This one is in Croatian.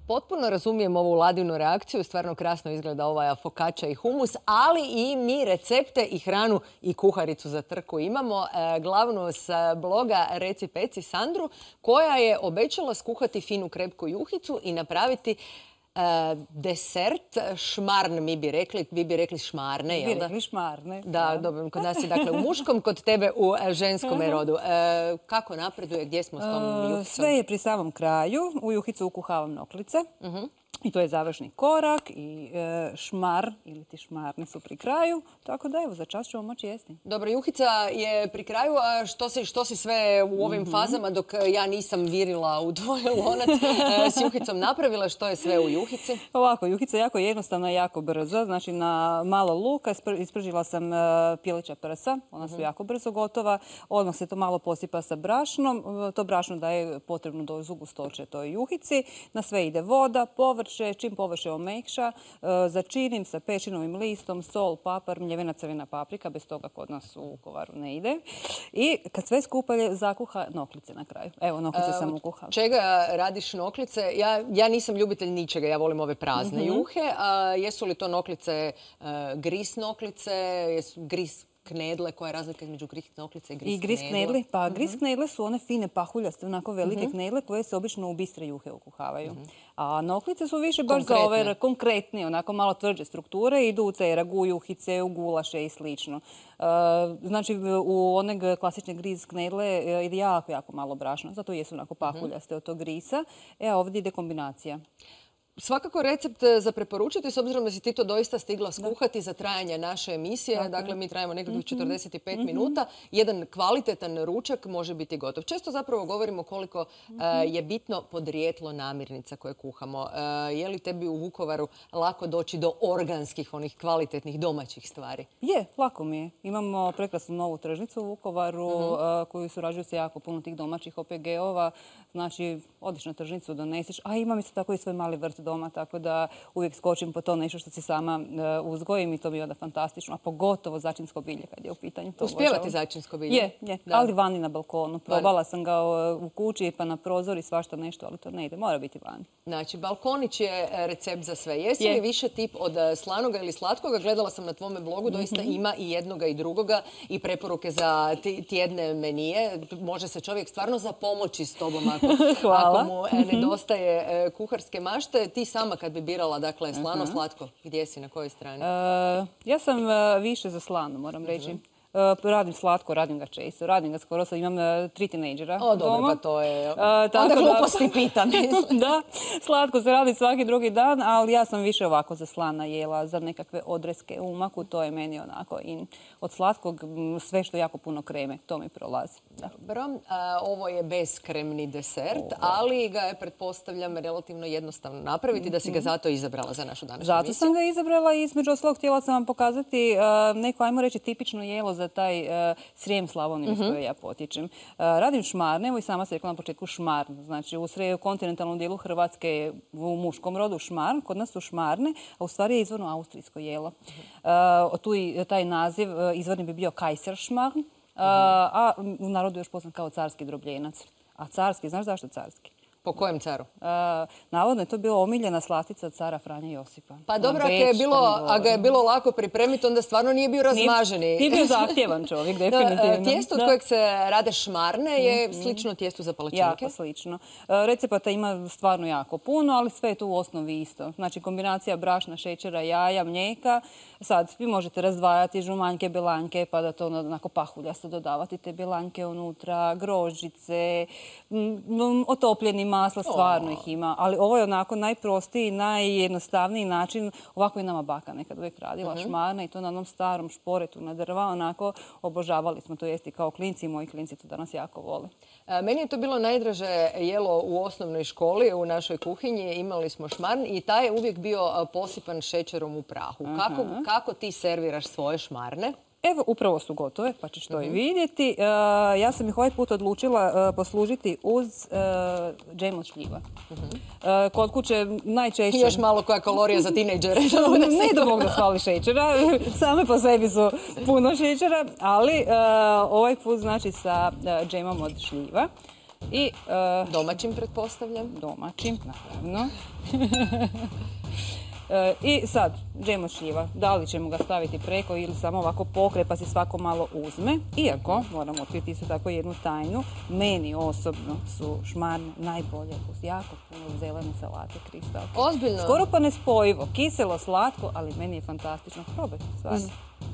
Potpuno razumijem ovu Ladinu reakciju, stvarno krasno izgleda ova fokača i humus, ali i mi recepte i hranu i kuharicu za trku imamo. Glavnu s bloga Reci Peci Sandru, koja je obećala skuhati finu krepku juhicu i napraviti desert, šmarn mi bi rekli, vi bi rekli šmarne, jel da? Vi rekli šmarne. Da, dobro, kod nas je dakle u muškom, kod tebe u ženskom rodu. Kako napreduje, gdje smo s tom juhicom? Sve je pri samom kraju, u juhicu ukuhavam noklice. I to je završni korak i šmar ili ti šmarne su pri kraju. Tako da evo, za čas ćemo moći jesti. Dobro, juhica je pri kraju, a što si sve u ovim fazama dok ja nisam virila u tvoj lonac s juhicom napravila, što je sve u juhici? Ovako, juhica je jako jednostavna i jako brza. Znači na malo luka ispržila sam pilića prsa, ona su jako brzo gotova. Odmah se to malo posipa sa brašnom. To brašno daje potrebnu dozu gustoće toj juhici. Na sve ide voda, povrće, čim povrće omekša, začinim sa pečinovim listom, sol, papar, mljevena crvena paprika, bez toga kod nas u Vukovaru ne ide. I kad sve skupa zakuha noklice na kraju. Evo, noklice sam ukuhala. Čega radiš noklice? Ja nisam ljubitelj ničega, ja volim ove prazne juhe. Jesu li to noklice, gris noklice, gris knedle, koja je razlika između gris noklice i gris knedle? I gris knedle? Pa gris knedle su one fine pahuljaste, onako velike knedle koje se obično u bistre juhe ukuhavaju. A noklice su više baš za ove konkretnije, onako malo tvrđe strukture, idu u te ragu, juhice, u gulaše i slično. Znači, u one klasične gris knedle ide jako, jako malo brašna, zato jesu onako pahuljaste od tog grisa. Ovdje ide kombinacija. Svakako recept za preporučiti, s obzirom da si ti to doista stigla skuhati za trajanje naše emisije. Dakle, mi trajamo nekakvih 45 minuta. Jedan kvalitetan ručak može biti gotov. Često zapravo govorimo koliko je bitno podrijetlo namirnica koje kuhamo. Je li tebi u Vukovaru lako doći do organskih, onih kvalitetnih domaćih stvari? Je, lako mi je. Imamo prekrasnu novu tržnicu u Vukovaru koju surađuju se jako puno tih domaćih OPG-ova. Znači, odiš na tržnicu, donesiš, a imam isto tako i svoj mali vrt doma, tako da uvijek skočim po to nešto što si sama uzgojim i to mi je onda fantastično, a pogotovo začinsko bilje kad je u pitanju. Uspijevati začinsko bilje? Je, ali vani na balkonu. Probala sam ga u kući pa na prozor i svašta nešto, ali to ne ide, mora biti vani. Znači, balkonić je recept za sve. Jesi li više tip od slanoga ili slatkoga? Gledala sam na tvome blogu, doista ima i jednoga i drugoga i preporuke za tjedne menije. Može se čovjek stvarno zapomoći s tobom ako mu nedostaje kuharske mašte. Ti sama kad bi birala, dakle, slano, slatko, gdje si, na kojoj strani? Ja sam više za slano, moram reći. Radim slatko, radim ga često, radim ga skoro, sad imam 3 tinejdžera doma. Dobro, pa to je... Onda gluposti pitam. Da, slatko se radi svaki drugi dan, ali ja sam više ovako za slana jela, za nekakve odreske u maku, to je meni onako in. Od slatkog sve što jako puno kreme, to mi prolazi. Dobro, ovo je beskremni desert, ali ga je, pretpostavljam, relativno jednostavno napraviti, da si ga zato izabrala za našu današnju emisiju. Zato sam ga izabrala i između ostalog htjela sam vam pokazati neko, ajmo reći, tipično jelo za taj Srijem Slavoniju iz koje ja potječem. Radim šmarne, evo i sama sam rekla na početku šmarn. Znači u kontinentalnom dijelu Hrvatske u muškom rodu šmarn, kod nas su šmarne, a u stvari je izvorno austrijsko jelo. Tu i taj naziv izvorni bi bio Kaiserschmarrn, a u narodu još poznat kao carski drobljenac. A carski, znaš zašto carski? Po kojem caru? Navodno je to bila omiljena slatica cara Franje Josipa. Pa dobro, ako ga je bilo lako pripremiti, onda stvarno nije bio razmaženi. Nije bio zahtjevan čovjek, definitivno. Tijesto od kojeg se rade šmarne je slično tijestu za palačinke? Jako slično. Recepata ima stvarno jako puno, ali sve je to u osnovi isto. Znači kombinacija brašna, šećera, jaja, mlijeka. Sad vi možete razdvajati žumanjke, belanjke, pa da to onako pahuljasto dodavati te belanjke unutra, grožđice, otopljeni masla, stvarno ih ima. Ali ovo je onako najprostiji, najjednostavniji način. Ovako je nama baka nekad uvijek radila šmarne i to na onom starom šporetu na drva. Onako obožavali smo to jesti kao klinci i moji klinci to danas jako vole. Meni je to bilo najdraže jelo u osnovnoj školi, u našoj kuhinji. Imali smo šmarn i taj je uvijek bio posipan šećerom u prahu. Kako ti serviraš svoje šmarne? Evo, upravo su gotove, pa ćeš to i vidjeti. Ja sam ih ovaj put odlučila poslužiti uz džem od šljiva. Kod kuće najčešće... I još malo koja kalorija za tinejdžere. Ne da mogu da svali šećera, same po sebi su puno šećera, ali ovaj put znači sa džemom od šljiva. I, Domaćim, pretpostavljam. domaćim, naravno. I sad, džem od šljiva. Da li ćemo ga staviti preko ili samo ovako pokret pa se svako malo uzme. Iako, moramo otkriti isto tako jednu tajnu, meni osobno su šmarne najbolje uz jako puno zelene salate, Kristal. Ozbiljno? Skoro pa nespojivo. Kiselo, slatko, ali meni je fantastično. Probajte, stvarno.